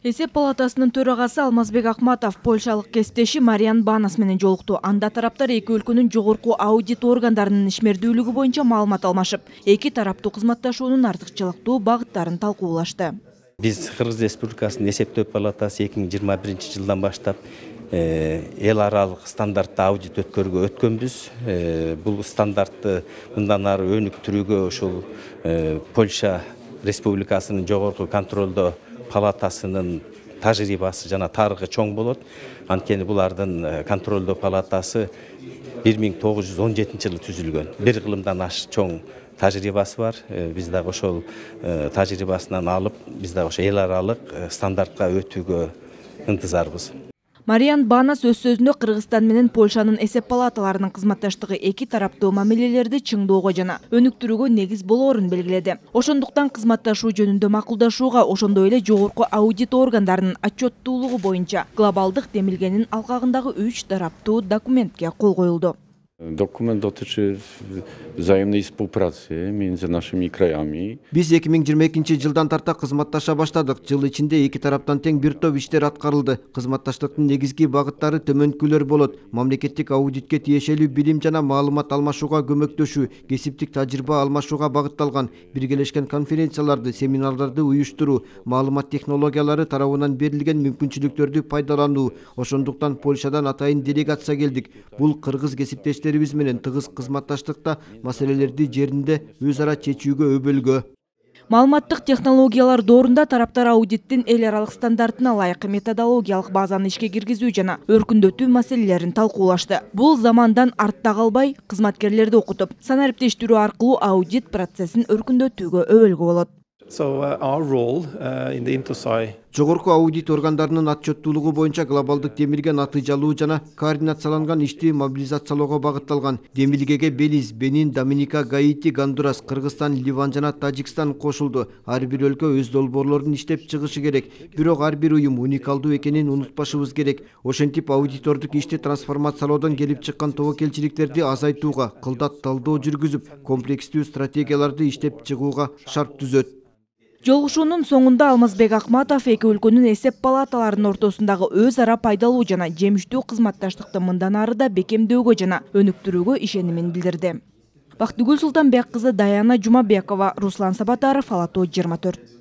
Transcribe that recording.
Эсеп палатасынын төрагасы Алмазбек Акматов польшалык кесиптеши Мариан Банас менен жолукту. Анда тараптар эки өлкөнүн жогорку аудит органдарынын ишмердүүлүгү боюнча маалымат алмашып, эки тараптуу кызматташуунун артыкчылыктуу багыттарын талкуулашты. Биз Кыргыз Республикасынын эсептөө палатасы 2021 жылдан баштап эл аралык стандартта аудит өткөнбүз. Бул стандартты мындан ары өнүктүрүүгө ушул Польша Республикасынын жогорку контролдоо палатасынын тажрыйбасы жана тарыхы чоң болот. Анткени булардын контролдоо палатасы 1917 жылы түзүлгөн. Бир кылымдан аш чоң тажрыйбасы бар. Биз дагы ошол тажрыйбасынан алып, биз дагы ошо эл аралык стандартка өтүүгө ынтызарбыз. Мариан Банас өз сөзүндө Кыргызстан менен Польшанын эсеп палаталарынын кызматташтыгы эки тараптуу мамилелерди чыңдоого жана өнүктүрүүгө негиз болоорун белгиледи. Ошондуктан кызматташуу жөнүндө макулдашууга, ошондой эле жогорку аудит органдарынын отчеттуулугу боюнча глобалдык демилгенин алкагындагы 3 тараптуу документке кол коюлду. Dokument dotyczy wzajemnej współpracy między naszymi krajami. Биз 2022 жылдан тарта кызматташа баштадык. Жыл ичинде эки тараптан тең бир топ иштер аткарылды. Кызматташтыктын негизги багыттары төмөнкүлөр болот: мамлекеттик аудитке тиешелүү билим жана маалымат алмашууга көмөктөшүү, кесиптик тажрыйба алмашууга багытталган, биргелешкен конференцияларды, семинарларды уюштуруу, маалымат технологиялары тарабынан берилген мүмкүнчүлүктөрдү пайдалануу. Ошондуктан Польшадан атайын делегация келдик. Бул кыргыз кесиптештер менен тыгыз кызматташтыкта маселелерди жеринде өз ара чечүүгө өбөлгө. Маалыматтык технологиялар доорунда тараптар аудиттин эл аралык стандартына ылайык методологиялык базаны ишке киргизүү жана өркүндөтүү маселелерин талкуулашты. Бул замандан артта калбай, кызматкерлерди окутуп, санариптештирүү аркылуу аудит процессин өркүндөтүүгө өбөлгө болот. Our role in the INTOSAI Жогорку аудит органдарынын отчеттуулугу боюнча глобалдык демилге натыйжалуу жана координацияланган ишти мобилизациялоого багытталган. Демилгеге Белиз, Бенин, Доминика, Гаити, Гондурас, Кыргызстан, Ливан жана Тажикстан кошулду. Ар бир өлкө өз долбоорлорун иштеп чыгышы керек. Бирок ар бир уюм уникалдуу экенин унутпашыбыз керек. Ошентип аудитордук ишти трансформациялоодон келип чыккан тобокелчиликтерди азайтууга, кылдат талдоо жүргүзүп, комплекстүү стратегияларды иштеп чыгууга шарт түзөт. Жолугушуунун соңунда Алмазбек Акматов эки өлкөнүн эсеп палаталарынын ортосундагы өз ара пайдалуу жана жемиштүү кызматташтыкты мындан ары да бекемдөөгө жана өнүктүрүүгө ишенимин билдирди. Бактыгүл Султанбек кызы Даяна Жумабекова, Руслан Сабатаров, Ала Тоо 24.